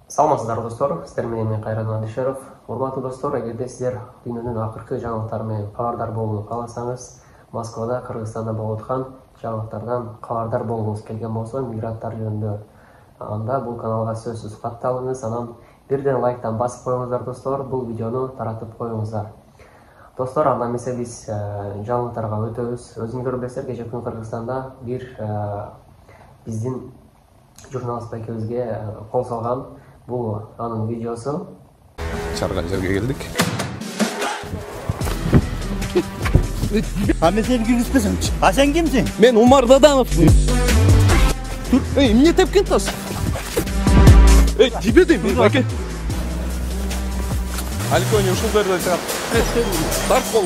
Саламатсыздарбы достор, сиздер менен мен Кайран Адишеров. Урматтуу достор, эгерде сиздер дүйнөнүн акыркы жаңылыктары менен кабардар болууну кааласаңыз, Москвада, Кыргызстанда болуп аткан жаңылыктардан кабардар болгуңуз келген болсо, мигранттар жөнүндө, анда бул каналга сөзсүз катталыңыз, анан бирден лайктан басып коюңуздар достор, бул видеону таратып коюңуздар. Достор, анда эмесе биз жаңылыктарга өтөбүз. Өзүңөр билесиздер, кечээ күнү Кыргызстанда бир биздин журналист байкебизге кол салган. Бул анын видеосу. Чарган жерге келдик. Мен сени киргизбесемчи. А сен кимсиң? Мен Умар Дадановмун. Тур, эмне тепкен тас? Тебе дейм, баке. Алькони ушул жерде чыгат. Тарт бол.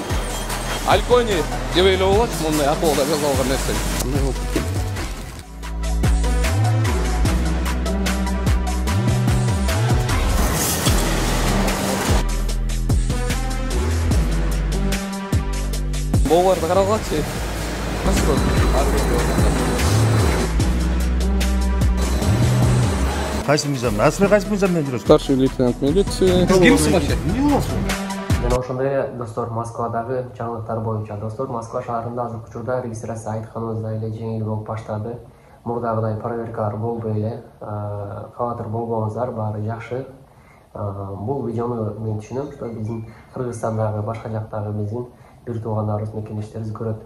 Алькони жебейле болот, мындай акылда жазылган нерсе. Боларды каралгачы. Кайсы мыйзам? Асылы кайсы мыйзам менен жүрөсүң? Старший лейтенант милиции. Кимсиң вообще? Эмне болсун? Жана ошондой эле достор, Москвадагы жаңылыктар боюнча достор, Москва шаарында азыркы учурда регистрация айтканыбыздай эле жеңил болуп баштады. Мурдагыдай проверкалар болбой эле, кабатыр болбоңуздар, баары жакшы. Бул видеону мен түшүнөм, что биздин Кыргызстандагы, башка жактагы биздин бир туугандарыбыз, мекендештерибиз көрөт.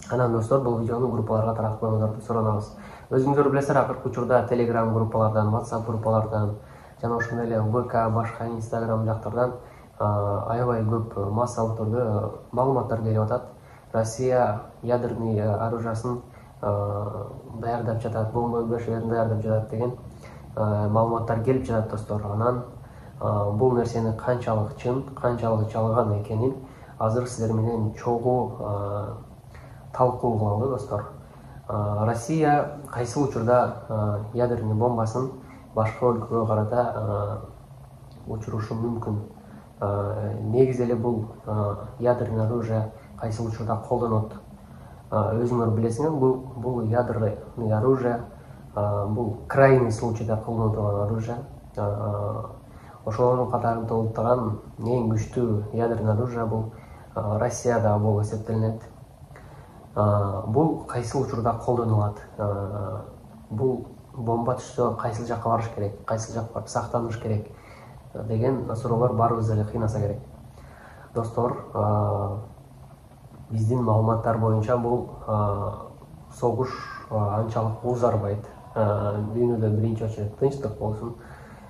Анан достор, бул видеону группаларга таратып коюңуздарды суранабыз. Өзүңүздөр билесиздер, акыркы учурда Telegram группалардан, WhatsApp группалардан жана ошондой эле ВК, башка Instagram жактардан аябай көп массалык түрдө маалыматтар келип атат. Россия ядерный оружиясын даярдап жатат, бомба өбөшөлөрүн даярдап жатат деген маалыматтар келип жатат достор. Анан бул нерсени канчалык чын, канчалык жалган экенин азыр сиздер менен чогуу талкуу кылалы достор. Россия кайсы учурда ядерный бомбасын башка өлкөгө карата учурушу мүмкүн. Негизи эле бул ядерный оружие кайсы учурда колдонот. Өзүңөр билесиңер, бул ядерный оружие, бул крайний случайда колдонулган оружие. Ошолордун катарында толуктаган эң күчтүү ядерный оружие бул Россияда болуп эсептелинет. Бул кайсы учурда колдонулат? Бул бомба түшсө кайсы жакка барыш керек, кайсы жакка барып сактаныш керек деген суроолор баарыбызды эле кыйнаса керек. Достор, биздин маалыматтар боюнча бул согуш анчалык узарбайт. Дүйнөдө биринчи очередь тынчтык болсун,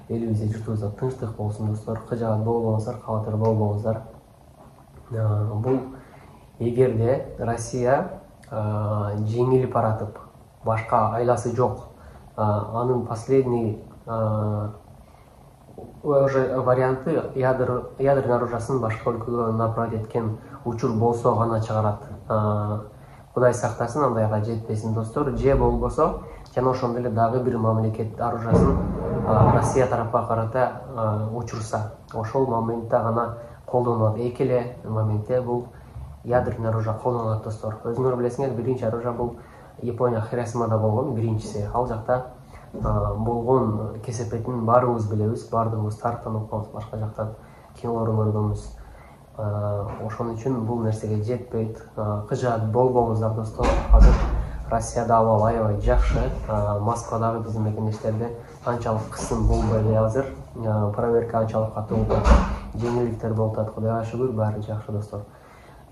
элибизде журтубузда тынчтык болсун достор. Кыжаат болбоңуздар, кабатыр болбоңуздар. Бул эгерде Россия жеңилип баратып, башка айласы жок, анын последний варианты ядерный оружиясын башка өлкөгө направить эткен учур болсо гана чыгарат. Кудай сактасын, андайга жетпесин достор. Же болбосо, жана ошондой эле дагы бир мамлекет оружиясын Россия тарапка карата учурса, ошол моментте гана колдонулат. Эки эле моментте бул ядерный оружие колдонулат достор. Өзүңөр билесиңер, биринчи оружие бул Япония Хиросимада болгон, биринчиси. Ал жакта болгон кесепетин баарыбыз билебиз, баардыгыбыз тарыхтан окуганбыз, башка жактан кинолорун көргөнбүз. Ошон үчүн бул нерсеге жетпейт. Кыжаат болбоңуздар достор. Азыр Россияда абал аябай жакшы. Москвадагы биздин мекендештерде анчалык кысым болбой эле азыр. Проверка анчалык катуу болуп атат. Жеңилдиктер болуп атат. Кудайга шүгүр, баары жакшы достор.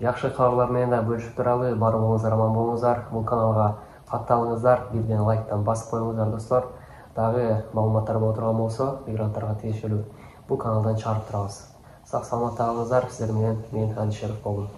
Жакшы кабарлар менен да бөлүшүп туралы. Баарыңыздар аман болуңуздар. Бул каналга катталыңыздар, бирден лайктан басып коюңуздар достор. Дагы маалыматтар боло турган болсо, мигранттарга тиешелүү бул каналдан чыгарып турабыз. Сак саламатта калыңыздар. Сиздер менен мен Адишеров болдум.